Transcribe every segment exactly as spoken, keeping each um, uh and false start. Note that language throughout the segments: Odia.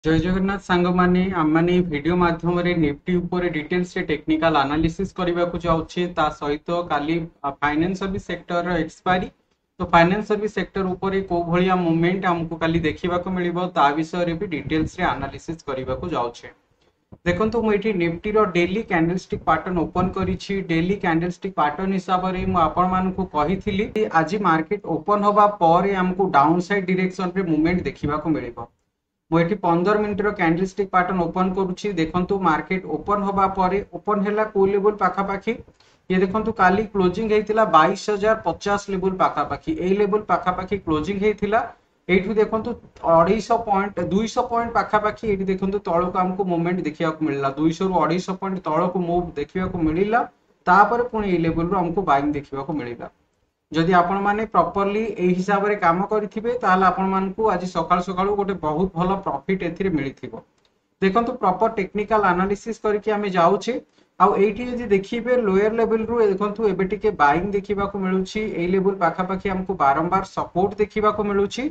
ଜୟ ଜଗନ୍ନାଥ ସାଙ୍ଗମାନେ ଆମମାନେ ଏଇ ଭିଡ଼ିଓ ମାଧ୍ୟମରେ ନିଫ୍ଟି ଉପରେ ଡିଟେଲ୍ସରେ ଟେକ୍ନିକାଲ ଆନାଲିସିସ୍ କରିବାକୁ ଯାଉଛେ ତା ସହିତ କାଲି ଫାଇନାନ୍ସ ସର୍ଭିସ ସେକ୍ଟରର ଏକ୍ସପାୟରି ତ ଫାଇନାନ୍ସ ସର୍ଭିସ ସେକ୍ଟର ଉପରେ କୋଉ ଭଳିଆ ମୁଭମେଣ୍ଟ ଆମକୁ କାଲି ଦେଖିବାକୁ ମିଳିବ ତା ବିଷୟରେ ବି ଡିଟେଲ୍ସରେ ଆନାଲିସିସ୍ କରିବାକୁ ଯାଉଛେ ଦେଖନ୍ତୁ ମୁଁ ଏଠି ନିଫ୍ଟିର ଡେଲି କ୍ୟାଣ୍ଡେଲଷ୍ଟିକ୍ ପାଟର୍ନ ଓପନ କରିଛି ଡେଲି କ୍ୟାଣ୍ଡେଲଷ୍ଟିକ୍ ପାଟର୍ନ ହିସାବରେ ମୁଁ ଆପଣମାନଙ୍କୁ କହିଥିଲି ଆଜି ମାର୍କେଟ ଓପନ ହବା ପରେ ଆମକୁ ଡାଉନ ସାଇଡ୍ ଡିରେକ୍ସନରେ ମୁଭମେଣ୍ଟ ଦେଖିବାକୁ ମିଳିବ ମୁଁ ଏଠି ପନ୍ଦର ମିନିଟର କ୍ୟାଣ୍ଡେଲଷ୍ଟିକ୍ ପାଟର୍ନ ଓପନ କରୁଛି ଦେଖନ୍ତୁ ମାର୍କେଟ ଓପନ ହବା ପରେ ଓପନ ହେଲା କୋଉ ଲେବୁଲ ପାଖାପାଖି ଇଏ ଦେଖନ୍ତୁ କାଲି କ୍ଲୋଜିଂ ହେଇଥିଲା ବାଇଶ ହଜାର ପଚାଶ ଲେବୁଲ ପାଖାପାଖି ଏଇ ଲେବୁଲ ପାଖାପାଖି କ୍ଲୋଜିଂ ହେଇଥିଲା ଏଇଠୁ ଦେଖନ୍ତୁ ଅଢେଇଶହ ପଏଣ୍ଟ ଦୁଇଶହ ପଏଣ୍ଟ ପାଖାପାଖି ଏଇଠି ଦେଖନ୍ତୁ ତଳକୁ ଆମକୁ ମୁଭମେଣ୍ଟ ଦେଖିବାକୁ ମିଳିଲା ଦୁଇଶହରୁ ଅଢେଇଶହ ପଏଣ୍ଟ ତଳକୁ ମୁଭ୍ ଦେଖିବାକୁ ମିଳିଲା ତାପରେ ପୁଣି ଏଇ ଲେବୁଲରୁ ଆମକୁ ବାଇଂ ଦେଖିବାକୁ ମିଳିଲା ଯଦି ଆପଣମାନେ ପ୍ରପରଲି ଏଇ ହିସାବରେ କାମ କରିଥିବେ ତାହେଲେ ଆପଣମାନଙ୍କୁ ଆଜି ସକାଳୁ ସକାଳୁ ଗୋଟେ ବହୁତ ଭଲ ପ୍ରଫିଟ୍ ଏଥିରେ ମିଳିଥିବ ଦେଖନ୍ତୁ ପ୍ରପର ଟେକ୍ନିକାଲ ଆନାଲିସିସ୍ କରିକି ଆମେ ଯାଉଛେ ଆଉ ଏଇଠି ଯଦି ଦେଖିବେ ଲୋୟର ଲେଭେଲରୁ ଦେଖନ୍ତୁ ଏବେ ଟିକେ ବାଇଂ ଦେଖିବାକୁ ମିଳୁଛି ଏଇ ଲେବୁଲ ପାଖାପାଖି ଆମକୁ ବାରମ୍ବାର ସପୋର୍ଟ ଦେଖିବାକୁ ମିଳୁଛି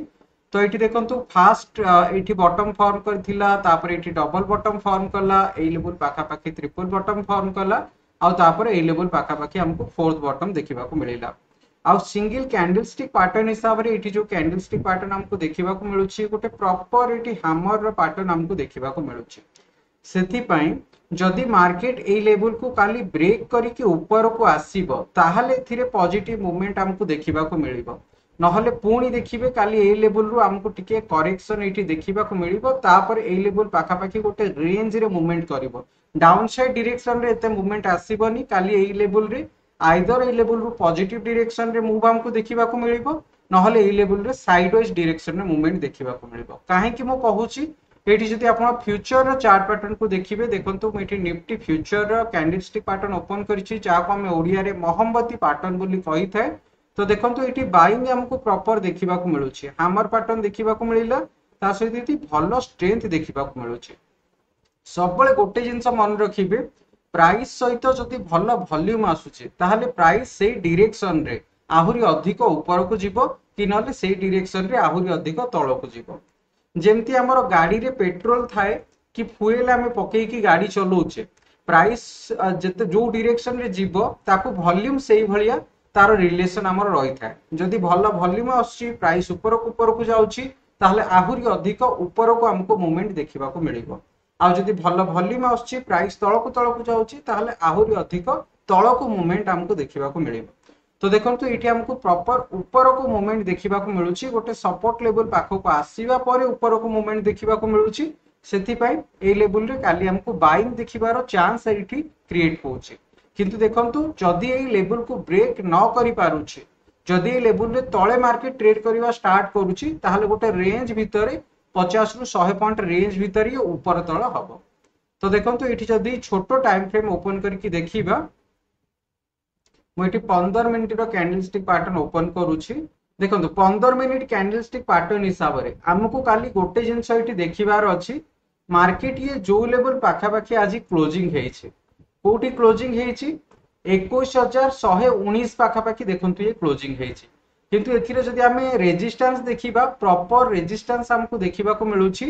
ତ ଏଇଠି ଦେଖନ୍ତୁ ଫାଷ୍ଟ ଏଇଠି ବଟମ ଫର୍ମ କରିଥିଲା ତାପରେ ଏଇଠି ଡବଲ ବଟମ ଫର୍ମ କଲା ଏଇ ଲେବୁଲ ପାଖାପାଖି ଟ୍ରିପଲ ବଟମ ଫର୍ମ କଲା ଆଉ ତାପରେ ଏଇ ଲେବୁଲ ପାଖାପାଖି ଆମକୁ ଫୋର୍ଥ ବଟମ ଦେଖିବାକୁ ମିଳିଲା ଆଉ ସିଙ୍ଗଲ କ୍ୟାଣ୍ଡେଲଷ୍ଟିକ୍ ପାଟର୍ନ ହିସାବରେ ଏଇଠି ଯୋଉ କ୍ୟାଣ୍ଡେଲଷ୍ଟିକ୍ ପାଟର୍ନ ଆମକୁ ଦେଖିବାକୁ ମିଳୁଛି ଗୋଟେ ପ୍ରପର ଏଇଠି ହାମରର ପାଟର୍ନ ଆମକୁ ଦେଖିବାକୁ ମିଳୁଛି ସେଥିପାଇଁ ଯଦି ମାର୍କେଟ ଏଇ ଲେବୁଲକୁ କାଲି ବ୍ରେକ୍ କରିକି ଉପରକୁ ଆସିବ ତାହେଲେ ଏଥିରେ ପଜିଟିଭ ମୁଭମେଣ୍ଟ ଆମକୁ ଦେଖିବାକୁ ମିଳିବ ନହେଲେ ପୁଣି ଦେଖିବେ କାଲି ଏଇ ଲେବୁଲରୁ ଆମକୁ ଟିକେ କରେକ୍ସନ ଏଇଠି ଦେଖିବାକୁ ମିଳିବ ତାପରେ ଏଇ ଲେବୁଲ ପାଖାପାଖି ଗୋଟେ ରେଞ୍ଜରେ ମୁଭମେଣ୍ଟ କରିବ ଡାଉନ ସାଇଡ୍ ଡିରେକ୍ସନରେ ଏତେ ମୁଭମେଣ୍ଟ ଆସିବନି କାଲି ଏଇ ଲେବୁଲରେ ଆଇଦର ଏଇ ଲେବୁଲରୁ ପଜିଟିଭ ଡିରେକ୍ସନରେ ମୁଭ୍ ଆମକୁ ଦେଖିବାକୁ ମିଳିବ ନହେଲେ ଏଇ ଲେବୁଲରେ ସାଇଡ ୱାଇଜ ଡିରେକ୍ସନରେ ମୁଭମେଣ୍ଟ ଦେଖିବାକୁ ମିଳିବ କାହିଁକି ମୁଁ କହୁଛି ଏଇଠି ଯଦି ଆପଣ ଫ୍ୟୁଚରର ଚାର୍ଟ ପାଟର୍ନକୁ ଦେଖିବେ ଦେଖନ୍ତୁ ମୁଁ ଏଠି ନିଫ୍ଟି ଫ୍ୟୁଚରର କ୍ୟାଣ୍ଡେଲଷ୍ଟିକ୍ ପାଟର୍ନ ଓପନ କରିଛି ଯାହାକୁ ଆମେ ଓଡ଼ିଆରେ ମହମବତୀ ପାଟର୍ନ ବୋଲି କହିଥାଏ ତ ଦେଖନ୍ତୁ ଏଇଠି ବାଇଂ ଆମକୁ ପ୍ରପର ଦେଖିବାକୁ ମିଳୁଛି ହାମର ପାଟର୍ନ ଦେଖିବାକୁ ମିଳିଲା ତା ସହିତ ଏଠି ଭଲ ଷ୍ଟ୍ରେନ୍ଥ ଦେଖିବାକୁ ମିଳୁଛି ସବୁବେଳେ ଗୋଟେ ଜିନିଷ ମନେ ରଖିବେ ପ୍ରାଇସ୍ ସହିତ ଯଦି ଭଲ ଭଲ୍ୟୁମ ଆସୁଛି ତାହେଲେ ପ୍ରାଇସ୍ ସେଇ ଡିରେକ୍ସନରେ ଆହୁରି ଅଧିକ ଉପରକୁ ଯିବ କି ନହେଲେ ସେଇ ଡିରେକ୍ସନରେ ଆହୁରି ଅଧିକ ତଳକୁ ଯିବ ଯେମିତି ଆମର ଗାଡିରେ ପେଟ୍ରୋଲ ଥାଏ କି ଫୁଏଲ ଆମେ ପକେଇକି ଗାଡି ଚଲଉଛେ ପ୍ରାଇସ୍ ଯେତେ ଯୋଉ ଡିରେକ୍ସନରେ ଯିବ ତାକୁ ଭଲ୍ୟୁମ ସେଇଭଳିଆ ତାର ରିଲେସନ ଆମର ରହିଥାଏ ଯଦି ଭଲ ଭଲ୍ୟୁମ ଆସୁଛି ପ୍ରାଇସ୍ ଉପରକୁ ଉପରକୁ ଯାଉଛି ତାହେଲେ ଆହୁରି ଅଧିକ ଉପରକୁ ଆମକୁ ମୁଭମେଣ୍ଟ ଦେଖିବାକୁ ମିଳିବ ଆଉ ଯଦି ଭଲ ଭଲ୍ୟୁମ ଆସୁଛି ପ୍ରାଇସ୍ ତଳକୁ ତଳକୁ ଯାଉଛି ତାହେଲେ ଆହୁରି ଅଧିକ ତଳକୁ ମୁଭମେଣ୍ଟ ଆମକୁ ଦେଖିବାକୁ ମିଳିବ ତ ଦେଖନ୍ତୁ ଏଇଠି ଆମକୁ ପ୍ରପର ଉପରକୁ ମୁଭମେଣ୍ଟ ଦେଖିବାକୁ ମିଳୁଛି ଗୋଟେ ସପୋର୍ଟ ଲେବୁଲ ପାଖକୁ ଆସିବା ପରେ ଉପରକୁ ମୁଭମେଣ୍ଟ ଦେଖିବାକୁ ମିଳୁଛି ସେଥିପାଇଁ ଏଇ ଲେବୁଲରେ କାଲି ଆମକୁ ବାଇଂ ଦେଖିବାର ଚାନ୍ସ ଏଇଠି କ୍ରିଏଟ ହଉଛି କିନ୍ତୁ ଦେଖନ୍ତୁ ଯଦି ଏଇ ଲେବୁଲକୁ ବ୍ରେକ୍ ନ କରିପାରୁଛି ଯଦି ଏଇ ଲେବୁଲରେ ତଳେ ମାର୍କେଟ ଟ୍ରେଡ୍ କରିବା ଷ୍ଟାର୍ଟ କରୁଛି ତାହେଲେ ଗୋଟେ ରେଞ୍ଜ ଭିତରେ ପଚାଶରୁ ଶହେ ପଏଣ୍ଟ ରେଞ୍ଜ ଭିତରେ ଇଏ ଉପର ତଳ ହବ ତ ଦେଖନ୍ତୁ ଏଇଠି ଯଦି ଛୋଟ ଟାଇମ ଫ୍ରେମ୍ ଓପନ କରିକି ଦେଖିବା ମୁଁ ଏଠି ପନ୍ଦର ମିନିଟର କ୍ୟାଣ୍ଡେଲଷ୍ଟିକ୍ ପାଟର୍ନ ଓପନ କରୁଛି ଦେଖନ୍ତୁ ପନ୍ଦର ମିନିଟ କ୍ୟାଣ୍ଡେଲଷ୍ଟିକ୍ ପାଟର୍ନ ହିସାବରେ ଆମକୁ କାଲି ଗୋଟେ ଜିନିଷ ଏଠି ଦେଖିବାର ଅଛି ମାର୍କେଟ ଇଏ ଯୋଉ ଲେବୁଲ ପାଖାପାଖି ଆଜି କ୍ଲୋଜିଂ ହେଇଛି କୋଉଠି କ୍ଲୋଜିଂ ହେଇଛି ଏକୋଇଶ ହଜାର ଶହେ ଉଣେଇଶ ପାଖାପାଖି ଦେଖନ୍ତୁ ଇଏ କ୍ଲୋଜିଂ ହେଇଛି କିନ୍ତୁ ଏଥିରେ ଯଦି ଆମେ ରେଜିଷ୍ଟାନ୍ସ ଦେଖିବା ପ୍ରପର ରେଜିଷ୍ଟାନ୍ସ ଆମକୁ ଦେଖିବାକୁ ମିଳୁଛି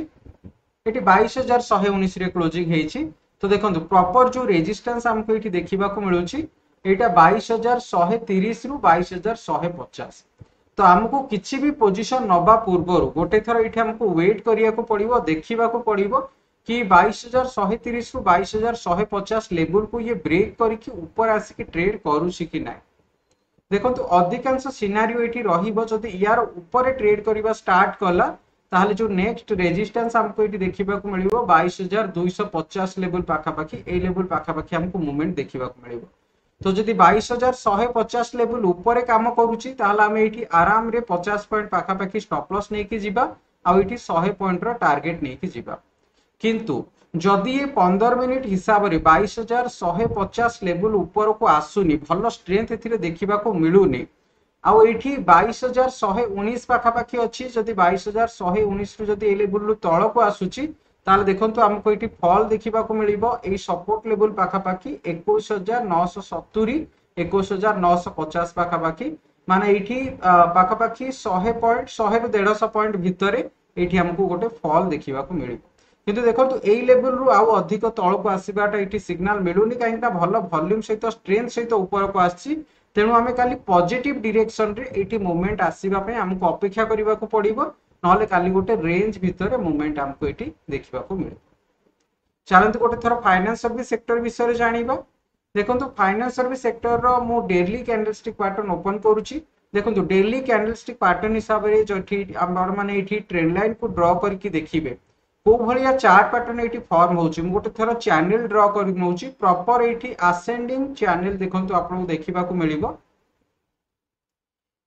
ଏଠି ବାଇଶ ହଜାର ଶହେ ଉଣେଇଶରେ କ୍ଲୋଜିଂ ହେଇଛି ତ ଦେଖନ୍ତୁ ପ୍ରପର ଯୋଉ ରେଜିଷ୍ଟାନ୍ସ ଆମକୁ ଏଠି ଦେଖିବାକୁ ମିଳୁଛି ଏଇଟା ବାଇଶ ହଜାର ଶହେ ତିରିଶରୁ ବାଇଶ ହଜାର ଶହେ ପଚାଶ ତ ଆମକୁ କିଛି ବି ପୋଜିସନ ନବା ପୂର୍ବରୁ ଗୋଟେ ଥର ଏଇଠି ଆମକୁ ୱେଟ୍ କରିବାକୁ ପଡିବ ଦେଖିବାକୁ ପଡିବ କି ବାଇଶ ହଜାର ଶହେ ତିରିଶରୁ ବାଇଶ ହଜାର ଶହେ ପଚାଶ ଲେବୁଲକୁ ଇଏ ବ୍ରେକ୍ କରିକି ଉପରେ ଆସିକି ଟ୍ରେଡ୍ କରୁଛି କି ନାହିଁ ଦେଖନ୍ତୁ ଅଧିକାଂଶ ସିନାରିଓ ଏଇଠି ରହିବ ଯଦି ୟାର ଉପରେ ଟ୍ରେଡ୍ କରିବା ଷ୍ଟାର୍ଟ କଲା ତାହେଲେ ଯୋଉ ନେକ୍ସଟ ରେଜିଷ୍ଟାନ୍ସ ଆମକୁ ଏଇଠି ଦେଖିବାକୁ ମିଳିବ ବାଇଶ ହଜାର ଦୁଇଶହ ପଚାଶ ଲେବୁଲ ପାଖାପାଖି ଏଇ ଲେବୁଲ ପାଖାପାଖି ଆମକୁ ମୁଭମେଣ୍ଟ ଦେଖିବାକୁ ମିଳିବ ତ ଯଦି ବାଇଶ ହଜାର ଶହେ ପଚାଶ ଲେବୁଲ ଉପରେ କାମ କରୁଛି ତାହେଲେ ଆମେ ଏଇଠି ଆରାମରେ ପଚାଶ ପଏଣ୍ଟ ପାଖାପାଖି ଷ୍ଟପ୍ ଲସ୍ ନେଇକି ଯିବା ଆଉ ଏଇଠି ଶହେ ପଏଣ୍ଟର ଟାର୍ଗେଟ ନେଇକି ଯିବା କିନ୍ତୁ ଯଦି ଏ ପନ୍ଦର ମିନିଟ ହିସାବରେ ବାଇଶ ହଜାର ଶହେ ପଚାଶ ଲେବୁଲ ଉପରକୁ ଆସୁନି ଭଲ ଷ୍ଟ୍ରେନ୍ଥ ଏଥିରେ ଦେଖିବାକୁ ମିଳୁନି ଆଉ ଏଇଠି ବାଇଶ ହଜାର ଶହେ ଉଣେଇଶ ପାଖାପାଖି ଅଛି ଯଦି ବାଇଶ ହଜାର ଶହେ ଉଣେଇଶରୁ ଯଦି ଏଇ ଲେବୁଲରୁ ତଳକୁ ଆସୁଛି ତାହେଲେ ଦେଖନ୍ତୁ ଆମକୁ ଏଇଠି ଫଲ୍ ଦେଖିବାକୁ ମିଳିବ ଏଇ ସପୋର୍ଟ ଲେବୁଲ ପାଖାପାଖି ଏକୋଇଶ ହଜାର ନଅଶହ ସତୁରି ଏକୋଇଶ ହଜାର ନଅଶହ ପଚାଶ ପାଖାପାଖି ମାନେ ଏଇଠି ପାଖାପାଖି ଶହେ ପଏଣ୍ଟ ଶହେରୁ ଦେଢ଼ଶହ ପଏଣ୍ଟ ଭିତରେ ଏଇଠି ଆମକୁ ଗୋଟେ ଫଲ୍ ଦେଖିବାକୁ ମିଳିବ କିନ୍ତୁ ଦେଖନ୍ତୁ, ଏଇ ଲେଭେଲରୁ ଆଉ ଅଧିକ ତଳକୁ ଆସିବାଟା ଏଇଠି ସିଗ୍ନାଲ ମିଳୁନି, କାହିଁକି ନା ଭଲ ଭଲ୍ୟୁମ ସହିତ, ଷ୍ଟ୍ରେନ୍ଥ ସହିତ ଉପରକୁ ଆସିଛି। ତେଣୁ ଆମେ କାଲି ପଜିଟିଭ ଡିରେକ୍ସନରେ ଏଇଠି ମୁଭମେଣ୍ଟ ଆସିବା ପାଇଁ ଆମକୁ ଅପେକ୍ଷା କରିବାକୁ ପଡିବ, ନହେଲେ କାଲି ଗୋଟେ ରେଞ୍ଜ ଭିତରେ ମୁଭମେଣ୍ଟ ଆମକୁ ଏଇଠି ଦେଖିବାକୁ ମିଳିବ। ଚାଲନ୍ତୁ ଗୋଟେ ଥର ଫାଇନାନ୍ସ ସର୍ଭିସ ସେକ୍ଟର ବିଷୟରେ ଜାଣିବା। ଦେଖନ୍ତୁ, ଫାଇନାନ୍ସ ସର୍ଭିସ ସେକ୍ଟରର ମୁଁ ଡେଲି କ୍ୟାଣ୍ଡେଲଷ୍ଟିକ୍ ପାଟର୍ନ ଓପନ କରୁଛି। ଦେଖନ୍ତୁ, ଡେଲି କ୍ୟାଣ୍ଡେଲଷ୍ଟିକ୍ ପାଟର୍ନ ହିସାବରେ ଯୋଉଠି ଆପଣମାନେ ଏଇଠି ଟ୍ରେଣ୍ଡ ଲାଇନକୁ ଡ୍ର କରିକି ଦେଖିବେ କୋଉ ଭଳିଆ ଚାର୍ଟ ପାଟର୍ନ ଏଇଠି ଫର୍ମ ହଉଛି। ମୁଁ ଗୋଟେ ଥର ଚ୍ୟାନେଲ ଡ୍ର କରି ନେଉଛି। ପ୍ରପର ଏଇଠି ଆସେଣ୍ଡିଂ ଚ୍ୟାନେଲ ଦେଖନ୍ତୁ ଆପଣଙ୍କୁ ଦେଖିବାକୁ ମିଳିବ।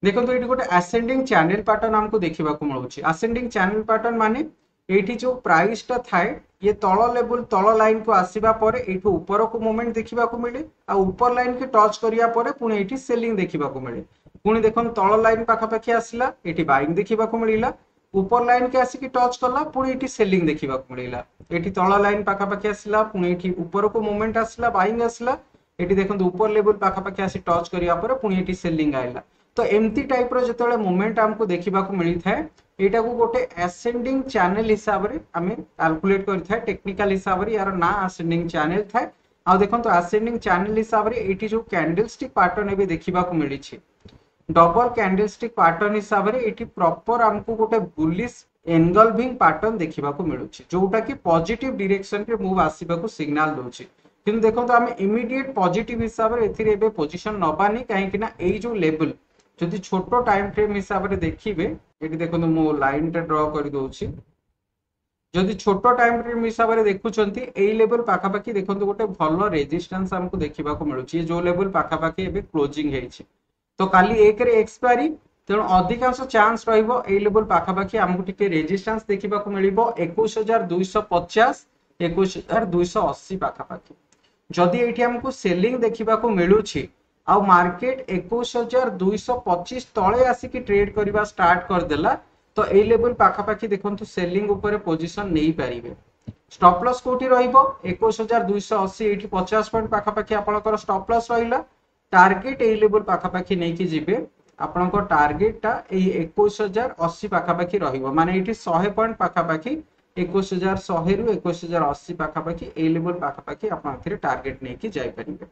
ଦେଖନ୍ତୁ, ଏଇଠି ଗୋଟେ ଆସେଣ୍ଡିଂ ଚ୍ୟାନେଲ ପାଟର୍ନ ଆମକୁ ଦେଖିବାକୁ ମିଳୁଛି। ଆସେଣ୍ଡିଂ ଚ୍ୟାନେଲ ପାଟର୍ନ ମାନେ ଏଇଠି ଯୋଉ ପ୍ରାଇସଟା ଥାଏ, ଇଏ ତଳ ଲେବୁଲ, ତଳ ଲାଇନକୁ ଆସିବା ପରେ ଏଇଠୁ ଉପରକୁ ମୁଭମେଣ୍ଟ ଦେଖିବାକୁ ମିଳେ, ଆଉ ଉପର ଲାଇନକୁ ଟଚ୍ କରିବା ପରେ ପୁଣି ଏଇଠି ସେଲିଂ ଦେଖିବାକୁ ମିଳେ। ପୁଣି ଦେଖନ୍ତୁ, ତଳ ଲାଇନ ପାଖାପାଖି ଆସିଲା, ଏଇଠି ବାଇଂ ଦେଖିବାକୁ ମିଳିଲା। ଉପର ଲାଇନ କି ଆସିକି ଟଚ୍ କଲା, ପୁଣି ଏଇଠି ସେଲିଂ ଦେଖିବାକୁ ମିଳିଲା। ଏଠି ତଳ ଲାଇନ ପାଖାପାଖି ଆସିଲା, ପୁଣି ଏଇଠି ଉପରକୁ ମୁଭମେଣ୍ଟ ଆସିଲା, ବାଇଂ ଆସିଲା। ଏଠି ଦେଖନ୍ତୁ, ଉପର ଲେବୁଲ ପାଖାପାଖି ଆସି ଟଚ୍ କରିବା ପରେ ପୁଣି ଏଠି ସେଲିଂ ଆଇଲା। ତ ଏମିତି ଟାଇପର ଯେତେବେଳେ ମୁଭମେଣ୍ଟ ଆମକୁ ଦେଖିବାକୁ ମିଳିଥାଏ, ଏଇଟାକୁ ଗୋଟେ ଆସେଣ୍ଡିଂ ଚ୍ୟାନେଲ ହିସାବରେ ଆମେ କାଲକୁଲେଟ କରିଥାଏ। ଟେକ୍ନିକାଲ ହିସାବରେ ୟାର ନାଁ ଆସେଣ୍ଡିଂ ଚ୍ୟାନେଲ ଥାଏ। ଆଉ ଦେଖନ୍ତୁ, ଆସେଣ୍ଡିଂ ଚ୍ୟାନେଲ ହିସାବରେ ଏଇଠି ଯୋଉ କ୍ୟାଣ୍ଡେଲ ଷ୍ଟିକ୍ ପାଟର୍ନ ଏବେ ଦେଖିବାକୁ ମିଳିଛି, ଡବଲ କ୍ୟାଣ୍ଡେଲ ଷ୍ଟିକ୍ ପାଟର୍ନ ହିସାବରେ ଏଇଠି ପ୍ରପର ଆମକୁ ଗୋଟେ ବୁଲିଶ ଏନଗଲଭିଂ ପାଟର୍ନ ଦେଖିବାକୁ ମିଳୁଛି, ଯୋଉଟା କି ପଜିଟିଭ ଡିରେକ୍ସନରେ ମୁଭ୍ ଆସିବାକୁ ସିଗ୍ନାଲ ଦଉଛି। କିନ୍ତୁ ଦେଖନ୍ତୁ, ଆମେ ଇମିଡିଏଟ ପଜିଟିଭ ହିସାବରେ ଏଥିରେ ଏବେ ପୋଜିସନ ନବାନି, କାହିଁକି ନା ଏଇ ଯୋଉ ଲେବୁଲ ଯଦି ଛୋଟ ଟାଇମ ଫ୍ରେମ ହିସାବରେ ଦେଖିବେ, ଏଠି ଦେଖନ୍ତୁ, ମୁଁ ଲାଇନଟା ଡ୍ର କରିଦଉଛି। ଯଦି ଛୋଟ ଟାଇମ ଫ୍ରେମ ହିସାବରେ ଦେଖୁଛନ୍ତି, ଏଇ ଲେବୁଲ ପାଖାପାଖି ଦେଖନ୍ତୁ ଗୋଟେ ଭଲ ରେଜିଷ୍ଟାନ୍ସ ଆମକୁ ଦେଖିବାକୁ ମିଳୁଛି, ଯୋଉ ଲେବୁଲ ପାଖାପାଖି ଏବେ କ୍ଲୋଜିଂ ହେଇଛି। ତ କାଲି ଏକରେ ଏକ୍ସପାୟରି, ତେଣୁ ଅଧିକାଂଶ ଚାନ୍ସ ରହିବ ଏଇ ଲେବୁଲ ପାଖାପାଖି ଆମକୁ ଟିକେ ରେଜିଷ୍ଟାନ୍ସ ଦେଖିବାକୁ ମିଳିବ। ଏକୋଇଶ ହଜାର ଦୁଇଶହ ପଚାଶ, ଏକୋଇଶ ହଜାର ଦୁଇଶହ ଅଶୀ ପାଖାପାଖି ଯଦି ଏଇଠି ଆମକୁ ସେଲିଂ ଦେଖିବାକୁ ମିଳୁଛି, ଆଉ ମାର୍କେଟ ଏକୋଇଶ ହଜାର ଦୁଇଶହ ପଚିଶ ତଳେ ଆସିକି ଟ୍ରେଡ୍ କରିବା ଷ୍ଟାର୍ଟ କରିଦେଲା, ତ ଏଇ ଲେବୁଲ ପାଖାପାଖି ଦେଖନ୍ତୁ ସେଲିଂ ଉପରେ ପୋଜିସନ ନେଇପାରିବେ। ଷ୍ଟପ୍ ଲସ୍ କୋଉଠି ରହିବ? ଏକୋଇଶ ହଜାର ଦୁଇଶହ ଅଶୀ, ଏଇଠି ପଚାଶ ପଏଣ୍ଟ ପାଖାପାଖି ଆପଣଙ୍କର ଷ୍ଟପ୍ ଲସ୍ ରହିଲା। ଟାର୍ଗେଟ ଏଇ ଲେବୁଲ ପାଖାପାଖି ନେଇକି ଯିବେ। ଆପଣଙ୍କ ଟାର୍ଗେଟଟା ଏଇ ଏକୋଇଶ ହଜାର ଅଶୀ ପାଖାପାଖି ରହିବ, ମାନେ ଏଇଠି ଶହେ ପଏଣ୍ଟ ପାଖାପାଖି, ଏକୋଇଶ ହଜାର ଶହେରୁ ଏକୋଇଶ ହଜାର ଅଶୀ ପାଖାପାଖି, ଏଇ ଲେବୁଲ ପାଖାପାଖି ଆପଣ ଏଥିରେ ଟାର୍ଗେଟ ନେଇକି ଯାଇପାରିବେ।